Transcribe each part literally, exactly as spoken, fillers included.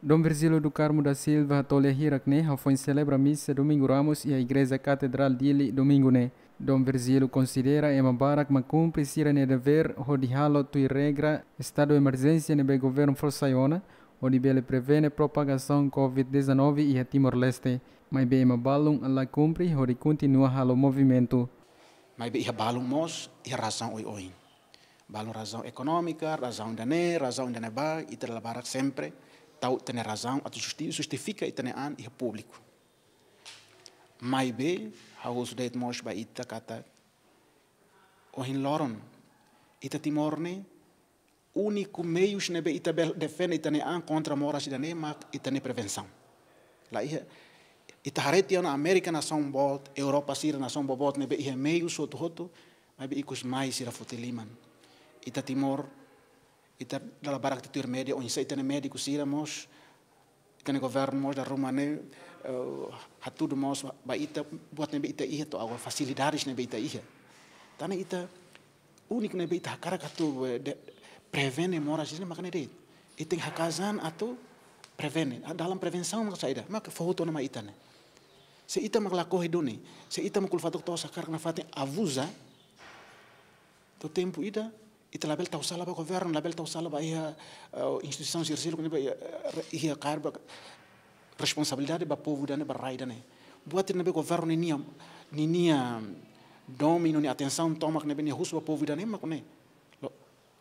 Dom Virgílio do Carmo da Silva hato'o lia hirak ne'e hafoin selebra misa Domingu Ramos iha Igreja Katedrál Dili Domingu ne'e. Dom Virgílio konsidera ema barak mak kumpre sira-nia devér hodi halo tuir regra estadu emerjénsia ne'ebé governu fó sai ona, hodi bele prevene propagasaun covid dezanove iha Timor-Leste. Maibé ema balun la kumpre hodi kontinua halo movimentu. Maibé iha balun mós iha razaun oioin. Balun razaun ekonómika, razaun ida-ne'e, razaun ida-ne'ebá, ita dala barak sempre tau ita-nia razaun atu justi-, justifika ita-nia an iha públiku. Maibé, ha'u husu de'it mós ba ita katak ohin loron, ita Timor ne'e, úniku meius ne'ebé ita bele defende ita-nia an kontra moras ida-ne'e mak ita-nia prevensaun. La iha, ita haree tiha ona Amérika nasaun boot, Europa sira nasaun boboot ne'ebé iha meius hotu-hotu, maibé ikus mai sira foti liman. Ita Timor, ita dala barak ita tuir média, oinsá ita-nia médiku sira mós, ita-nia governu mós dala ruma ne'e, eh, hatudu mós ba ita buat ne'ebé ita iha to'o agora, fasilidades ne'ebé ita iha. Tan ne'e ita úniku ne'ebé ita hakarak atu, eh, de-, prevene moras ne'e mak ne'e de'it. Ita tenke haka'as an atu prevene. Ah, dalan prevensaun mak saida? Mak fó hotu ona mai ita ne'e. Se ita mak lakohi duni, se ita mak kul fatuk to'os hakarak nafatin abuza, to'o tempu ida, ita labele tau sala ba governu, labele tau sala ba iha, eh, instituisaun sira seluk ne'ebé iha, eh, iha kaer ba responsabilidade ba povu ida-ne'e, ba rai ida-ne'e. Buat ne'ebé governu ninia, ninia domíniu, nia atensaun tomak ne'ebé nia husu ba povu ida-ne'e mak ne'e. Lo,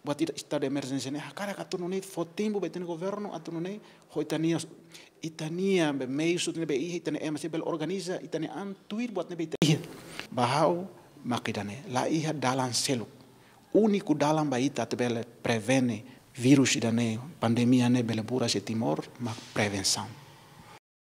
buat ida estadu emerjénsia ne'e, hakarak atu nune'e fó tempu ba ita-nia governu atu nune'e, ho ita-nia, ita-nia be meius ne'ebé iha, ita-nia ema sira bele organiza ita-nia an tuir buat ne'ebé ita iha. Ba ha'u mak ida-ne'e, la iha dalan seluk. Úniku dalan ba ita atu bele prevene vírus ida-ne'e, pandemia ne'e bele buras iha Timor, mak prevensaun.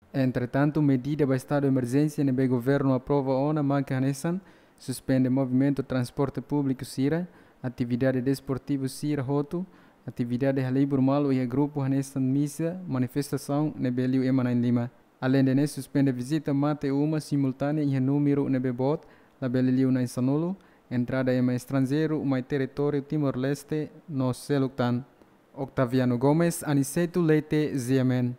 Entretantu, medida ba estadu emerjénsia ne'ebé governu aprova ona mak hanesan suspende movimentu transporte públiku sira, atividade desportivu sira hotu, atividade halibur malu iha grupu hanesan misa, manifestasaun ne'ebé liu ema na'in-lima. Aleinde ne'e, suspende vizita mate uma simultánea iha númeru ne'ebé boot, labele liu na'in-sanulu, entrada ema estranjeiru mai territóriu Timor-Leste no seluk tan. Octaviano Gomes, Aniceto Leite, G M N.